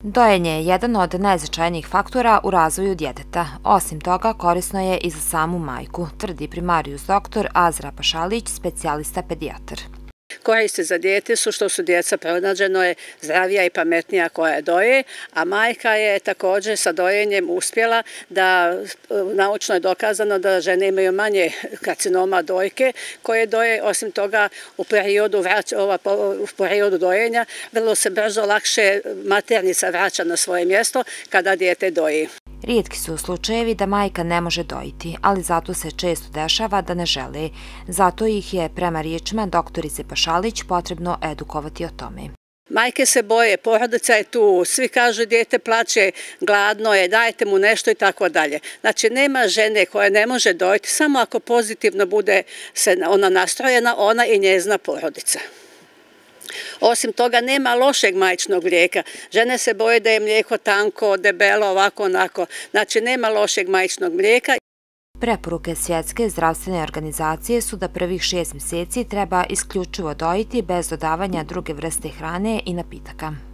Dojenje je jedan od najznačajnijih faktora u razvoju djeteta. Osim toga, korisno je i za samu majku, tvrdi primarius doktor Azra Pašalić, specijalista pedijatar. Koristi za dijete su što su djeca pronađeno je zdravija i pametnija koja doje, a majka je također sa dojenjem uspjela da naučno je dokazano da žene imaju manje karcinoma dojke koje doje. Osim toga u periodu dojenja vrlo se brzo lakše maternica vraća na svoje mjesto kada dijete doji. Rijetki su slučajevi da majka ne može dojiti, ali zato se često dešava da ne žele. Zato ih je, prema riječima doktorice Pašalić, potrebno edukovati o tome. Majke se boje, porodica je tu, svi kažu dijete plače, gladno je, dajte mu nešto i tako dalje. Znači nema žene koja ne može dojiti, samo ako pozitivno bude ona nastrojena, ona i njezina porodica. Osim toga, nema lošeg majčinog mlijeka. Žene se boje da je mlijeko tanko, debelo, ovako, onako. Znači, nema lošeg majčinog mlijeka. Preporuke Svjetske zdravstvene organizacije su da prvih 6 mjeseci treba isključivo dojiti bez dodavanja druge vrste hrane i napitaka.